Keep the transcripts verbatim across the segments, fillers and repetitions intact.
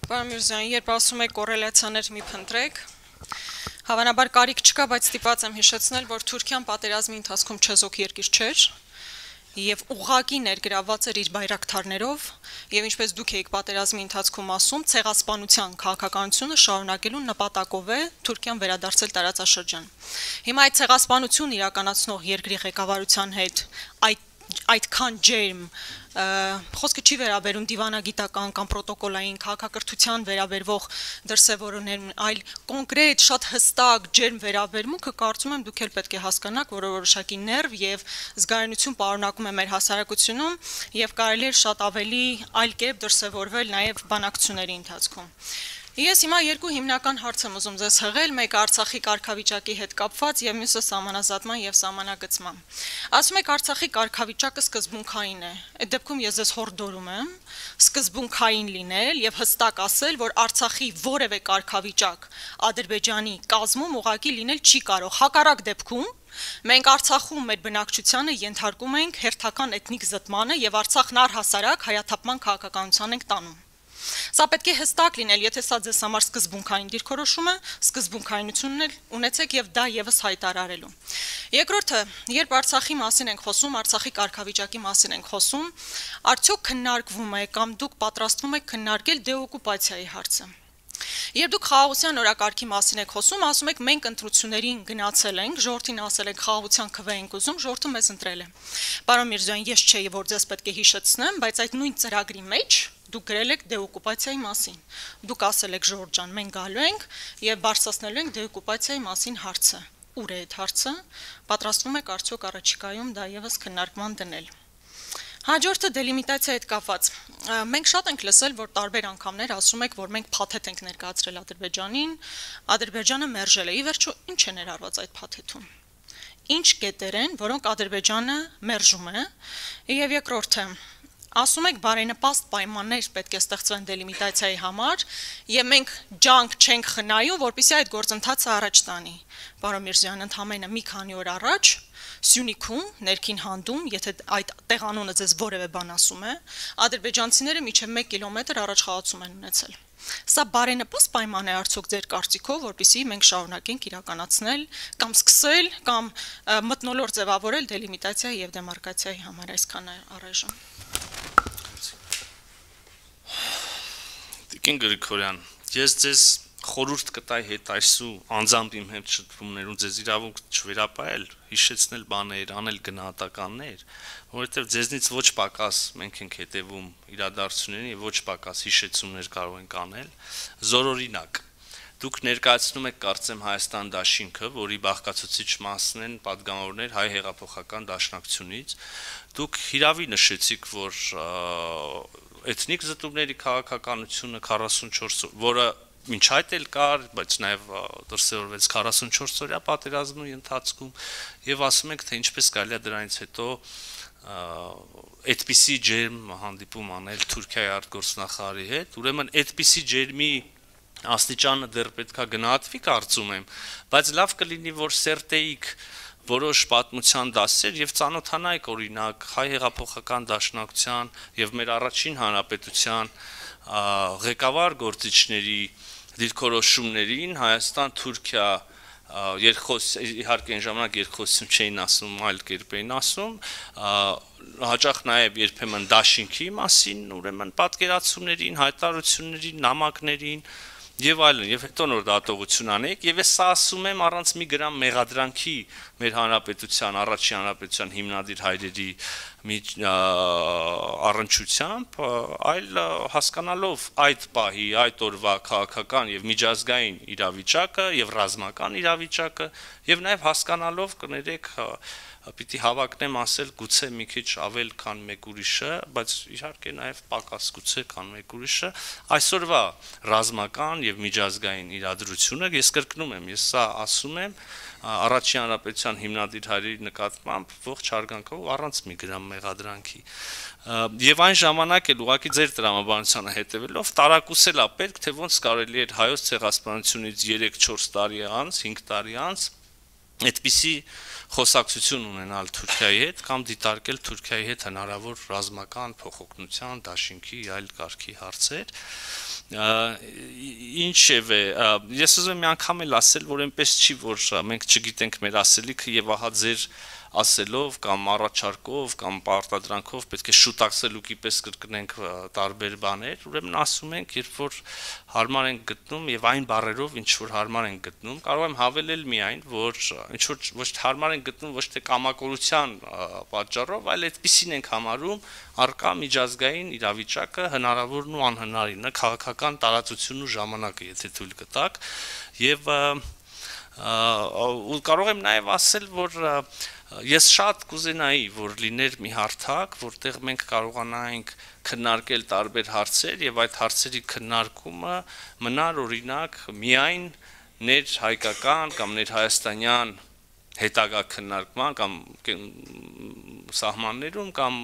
Պարոն Միրզոյան, երբ ասում եք կոռելացիաներ մի փնտրեք, հավանաբար կարիք չկա, բայց ստիպված եմ հիշեցնել, որ Թուրքիան պատերազմի ընթացքում չեզոք երկիր չէր եւ ուղղակի ներգրավված էր իր բայրակթարներով եւ ինչպես դուք եք պատերազմի ընթացքում ասում, ցեղասպանության քաղաքականությունը շարունակելու նպատակով է Թուրքիան վերադարձել տարածաշրջան։ Հիմա այդ ցեղասպանություն իրականացնող երկրի ղեկավարության հետ այդ այդքան ջերմ խոսքը չի վերաբերում դիվանագիտական կամ պրոտոկոլային քաղաքակրթության վերաբերվող դրսևորումներ, այլ կոնկրետ շատ հստակ ջերմ վերաբերմունքը կարծում եմ դուք էլ պետք է հասկանաք, որ որոշակի ներվ եւ զգայունություն պարունակում է մեր հասարակությունում եւ կարելի է շատ ավելի այլ կերպ դրսևորվել նաեւ բանակցությունների ընթացքում։ Ես հիմա երկու հիմնական հարց եմ ուզում ձեզ հղել, մեկը Արցախի կարգավիճակի հետ կապված եւ մյուսը սահմանազատման եւ սահմանագծման։ Ասում եք Արցախի կարգավիճակը սկզբունքային է։ Այդ դեպքում ես ձեզ հորդորում եմ սկզբունքային լինել եւ հստակ ասել, որ Արցախի որևէ կարգավիճակ Ադրբեջանի կազմում ուղղակի լինել չի կարող։ Հակառակ դեպքում մենք Արցախում մեր բնակչությանը ենթարկում ենք հերթական էթնիկ զտմանը եւ Արցախն առհասարակ հայաթափման քաղաքականության ենք տանում։ Սա պետք է հստակ լինել, եթե սա ձեզ համար սկզբունքային դիրքորոշում է, սկզբունքայնությունն էլ ունեցեք եւ դա եւս հայտարարելու։ Երկրորդը, երբ Արցախի մասին ենք խոսում, Արցախի կարգավիճակի մասին ենք խոսում, արդյոք քննարկվում է կամ դուք պատրաստվում եք քննարկել դեօկուպացիայի հարցը։ Երբ դուք խաղաղության օրակարգի մասին եք խոսում, ասում եք մենք ընտրություններին գնացել ենք, ժողովրդին ասել ենք խաղաղության քվե ենք ուզում, ժողովուրդը մեզ ընտրել է։ Պարոն Միրզոյան, ես չէի, որ ձեզ պետք է հիշեցնեմ, բայց այդ նույն ծրագրի մեջ դուք գրել եք դեօկուպացիայի մասին։ Դուք ասել եք ժողովուրդ ջան, մենք գալու ենք եւ բարձրացնելու ենք դեօկուպացիայի մասին հարցը։ Ուր է այդ հարցը։ Պատրաստվում եք արդյոք առաջիկայում դա եւս քննարկման դնել։ Հաջորդը դելիմիտացիայի հետ կապված։ Մենք շատ ենք լսել, որ տարբեր անգամներ ասում եք, որ մենք փաթեթ ենք ներկայացրել Ադրբեջանին, Ադրբեջանը մերժել է։ Ի վերջո, ինչ է ներառված այդ փաթեթում։ Ինչ կետեր են, որոնք Ադրբեջանը մերժում է։ Եվ երկրորդը, ասում եք բարենպաստ պայմաններ պետք է ստեղծվեն դելիմիտացիայի համար, եւ մենք ջանք չենք խնայում, որպեսզի այդ գործընթացը առաջ տանի։ Պարոն Միրզոյան, ընդամենը մի քանի օր առաջ Սյունիքում, ներքին հանդում, եթե այդ տեղանունը ձեզ որևէ բան ասում է, ադրբեջանցիները մինչև մեկ կիլոմետր առաջխաղացում են ունեցել։ Սա բարենպաստ պայման է արդյոք ձեր կարծիքով, որպեսզի մենք շարունակենք իրականացնել կամ սկսել կամ մթնոլորտ ձևավորել դելիմիտացիայի եւ դեմարկացիայի համար այսքան առայժմ։ Տիկին Գրիգորյան, ես ձեզ խորհուրդ կտայի հետ այսու անձամբ իմ հետ շփումներում ձեզ իրավունք չվերապահել, հիշեցնել բաներ, անել գնահատականներ, որովհետև ձեզնից ոչ պակաս մենք ենք հետևում իրադարձություններին եւ ոչ պակաս հիշեցումներ կարող ենք անել, զորօրինակ։ Դուք ներկայացնում եք կարծեմ Հայաստան դաշինքը, որի բաղկացուցիչ մասն են պատգամավորներ հայ հեղափոխական դաշնակցությունից։ Դուք հիրավի նշեցիք, որ էթնիկ զտումների քաղաքականությունը քառասունչորս, որը մինչ այդ էլ կար, բայց նաև դրսևորվեց քառասունչորս օրյա պատերազմի ընթացքում եւ ասում եք, թե ինչպես կարելի է դրանից հետո այդպիսի ջերմ հանդիպում անել Թուրքիայի արտգործնախարարի հետ, ուրեմն այդպիսի ջերմի աստիճանը դեռ պետքա գնահատվի կարծում եմ, բայց լավ կլինի, որ սերտեիք որոշ պատմության դասեր եւ ծանոթանայք օրինակ հայ հեղափոխական դաշնակցության եւ մեր առաջին հանրապետության ղեկավար գործիչների դիրքորոշումներին Հայաստան-Թուրքիա երկխոս իհարկե այն ժամանակ երկխոսություն չէին ասում, այլ կերպ էին ասում, հաճախ նաեւ երբեմն դաշինքի մասին, ուրեմն պատկերացումներին, հայտարարություններին, նամակներին եւ այլն, եւ հետո նոր դատողություն անեք, եւ ես սա ասում եմ առանց մի գրամ մեղադրանքի մեր հանրապետության, առաջին հանրապետության հիմնադիր հայրերի մի առնչությամբ, այլ հասկանալով այդ պահի, այդ օրվա քաղաքական եւ միջազգային իրավիճակը եւ ռազմական իրավիճակը եւ նաեւ հասկանալով կներեք պիտի հավակնեմ ասել գուցե մի քիչ ավել քան մեկ ուրիշը, բայց իհարկե նաև պակաս գուցե քան մեկ ուրիշը, այսօրվա ռազմական եւ միջազգային իրադրությունը, ես կրկնում եմ, ես սա ասում եմ առաջին հանրապետության հիմնադիր հայրերի նկատմամբ ողջ հարգանքով առանց մի գրամ մեղադրանքի։ Եվ այն ժամանակ էլ ուղղակի ձեր տրամաբանությանը հետևելով տարակուսել է պետք, թե ոնց կարելի էր հայոց ցեղասպանությունից երեք չորս տարի անց, հինգ տարի անց այդպիսի խոսակցություն ունենալ Թուրքիայի հետ կամ դիտարկել Թուրքիայի հետ հնարավոր ռազմական փոխօգնության, դաշինքի, այլ կարգի հարցեր։ Ինչևէ, ես ուզում եմ մի անգամ էլ ասել, որ այնպես չի, որ մենք չգիտենք մեր ասելիքը եւ ահա ձեր ասելով կամ առաջարկով կամ պարտադրանքով պետք է շուտակսելուկի պես կրկնենք տարբեր բաներ, ուրեմն ասում ենք, երբ որ հարմար ենք գտնում եւ այն բառերով, ինչ որ հարմար ենք գտնում, կարող եմ հավելել միայն, որ ինչ որ ոչ թե հարմար ենք գտնում ոչ թե կամակորության պատճառով, այլ այդպեսին ենք համարում առկա միջազգային իրավիճակը հնարավորն ու անհնարինը, քաղաքական տարածությունն ու ժամանակը, եթե թույլ կտաք, եւ ու կարող եմ նաեւ ասել, որ ես շատ կուզենայի, որ լիներ մի հարթակ, որտեղ մենք կարողանայինք քննարկել տարբեր հարցեր եւ այդ հարցերի քննարկումը մնար օրինակ միայն ներհայկական կամ ներհայաստանյան հետագա քննարկման կամ սահմաններում կամ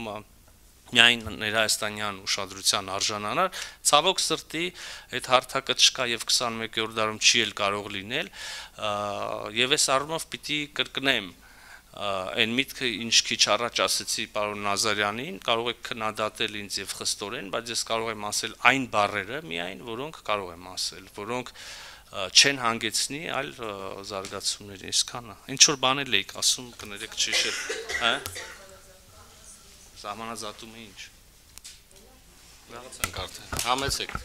միայն ներհայաստանյան ուշադրության արժանանար, ցավոք սրտի այդ հարթակը չկա եւ քսանմեկերորդ դարում չի էլ կարող լինել եւ այս առումով պիտի կրկնեմ այն միտքը, ինչ քիչ առաջ ասեցի պարոն Նազարյանին, կարող եք քննադատել ինձ եւ խստորեն, բայց ես կարող եմ ասել այն բառերը միայն, որոնք կարող եմ ասել, որոնք չեն հանգեցնի այլ զարգացումների, այսքանը։ Ինչ որ բաներ էիք ասում, կներեք չհիշել, հա։ Սահմանազատումը ինչ։ Լավացանք արդեն։ Համեցեք։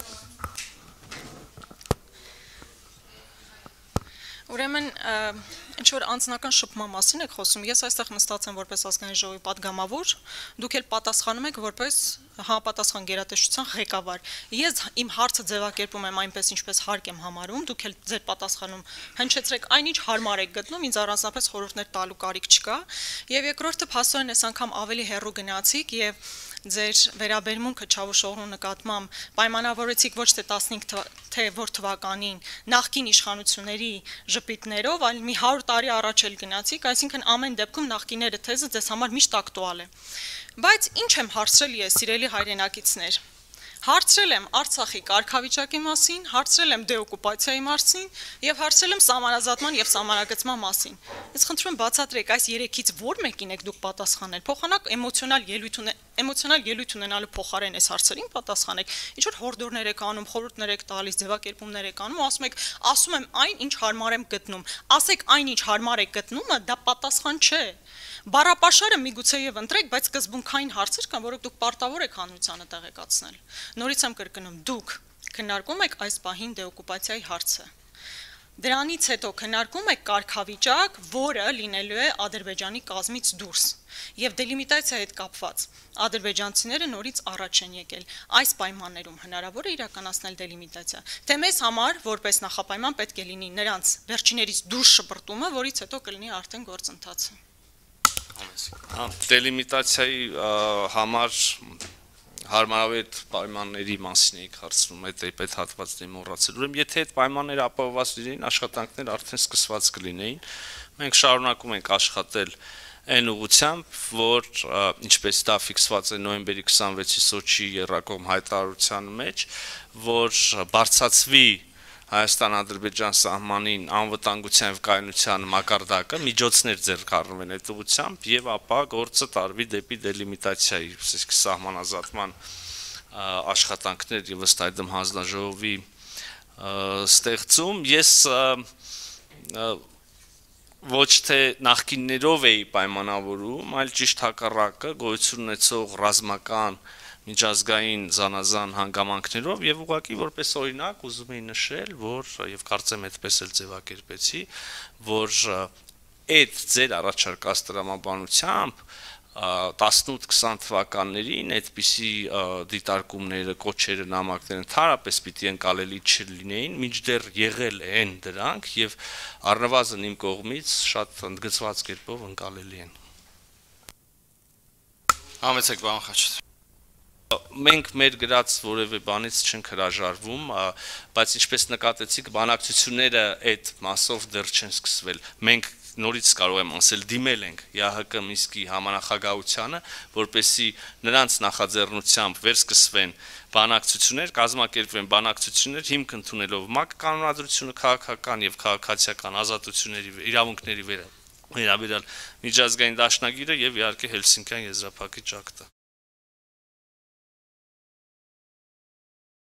Ուրեմն ինչ որ անձնական շփման մասին եք խոսում, ես այստեղ նստած եմ որպես ազգային ժողովի պատգամավոր, դուք էլ պատասխանում եք որպես համապատասխան գերատեսչության ղեկավար։ Ես իմ հարցը ձևակերպում եմ այնպես, ինչպես հարկ եմ համարում, դուք էլ ձեր պատասխանում հնչեցրեք այն, ինչ հարմար եք գտնում, ինձ առանձնապես խորհուրդներ տալու կարիք չկա։ Եվ երկրորդը փաստորեն այս անգամ ավելի հեռու գնացիք եւ ձեր վերաբերմունքը Չավուշօղլու նկատմամբ պայմանավորեցիք ոչ թե տասնհինգ թե որ թվականին նախկին իշխանությունների ժպիտներով, այլ մի հարյուր տարի առաջ էլ գնացիք, այսինքն ամեն դեպքում նախկիները թեզը ձեզ համար միշտ ակտուալ է։ Բայց ինչ եմ հարցրել ես, սիրելի հայրենակիցներ։ Հարցրել եմ Արցախի կարգավիճակի մասին, հարցրել եմ դեօկուպացիայի մասին եւ հարցրել եմ սահմանազատման եւ սահմանագծման մասին։ Ես խնդրում եմ բացատրեք, այս երեքից որ մեկին եք դուք պատասխանել։ Փոխանակ էմոցիոնալ ելույթ էմոցիոնալ ելույթ ունենալու փոխարեն այս հարցերին պատասխանեք։ Ինչ որ հորդորներ եք անում, խորհուրդներ եք տալիս, ձևակերպումներ եք անում, ասում եք, ասում եմ այն, ինչ հարմար եմ գտնում։ Ասեք այն, ինչ հարմար եք գտնումը, դա պատասխան չէ։ Բառապաշարը միգուցե եւ ընտրեք, բայց սկզբունքային հարցեր կան, որոնք դուք պարտավոր եք հանրությանը տեղեկացնել։ Նորից եմ կրկնում, դուք քննարկում եք այս պահին դեօկուպացիայի հարցը։ Դրանից հետո քննարկում եք կարգավիճակ, որը լինելու է Ադրբեջանի կազմից դուրս։ Եվ դելիմիտացիայի հետ կապված ադրբեջանցիները նորից առաջ են եկել։ Այս պայմաններում հնարավոր է իրականացնել դելիմիտացիա։ Թե մեզ համար որպես նախապայման պետք է լինի նրանց վերջիներից դուրս շպրտումը, որից հետո կլինի արդեն գործընթացը։ Դելիմիտացիայի համար հարմարավետ պայմանների մասին եք հարցնում, այդ այդ հատվածն եմ մոռացել։ Ուրեմն եթե այդ պայմանները ապահովված լինեին, աշխատանքներ արդեն սկսված կլինեին։ Մենք շարունակում ենք աշխատել այն ուղղությամբ, որ ինչպես դա ֆիքսված է նոյեմբերի քսանվեցի Սոչի եռակողմ հայտարարության մեջ, որ բարձրացվի Հայաստան-Ադրբեջան սահմանին անվտանգության եւ կայունության մակարդակը, միջոցներ ձեռք առնվեն այդ ուղղությամբ եւ ապա գործը տարվի դեպի դելիմիտացիայի, իսկ սահմանազատման աշխատանքներ եւ ըստ այդմ հանձնաժողովի ստեղծում։ Ես ոչ թե նախկիններով էի պայմանավորում, այլ ճիշտ հակառակը գոյություն ունեցող ռազմական միջազգային զանազան հանգամանքներով եւ ուղղակի որպես օրինակ ուզում եի նշել, որ եւ կարծեմ այդպես էլ ձևակերպեցի, որ այդ ձեր առաջարկած տրամաբանությամբ տասնութ քսան թվականներին այդպիսի դիտարկումները, կոչերը, նամակները ընդհանրապես պիտի ընկալելի չլինեին, մինչդեռ եղել են դրանք եւ առնվազն իմ կողմից շատ ընդգծված կերպով ընկալելի են։ Համեցեք բան Խաչատրյան։ Մենք մեր գրած որևէ բանից չենք հրաժարվում, բայց ինչպես նկատեցիք, բանակցությունները այդ մասով դեռ չեն սկսվել։ Մենք նորից կարող եմ ասել, դիմել ենք ԵԱՀԿ Մինսկի համանախագահությանը, որպեսզի նրանց նախաձեռնությամբ վերսկսվեն բանակցություններ, կազմակերպվեն բանակցություններ, հիմք ընդունելով ՄԱԿ կանոնադրությունը, քաղաքական եւ քաղաքացիական ազատությունների իրավունքների վերաբերյալ վերաբերյալ միջազգային դաշնագիրը եւ իհարկե Հելսինկյան եզրափակիչ ակտը։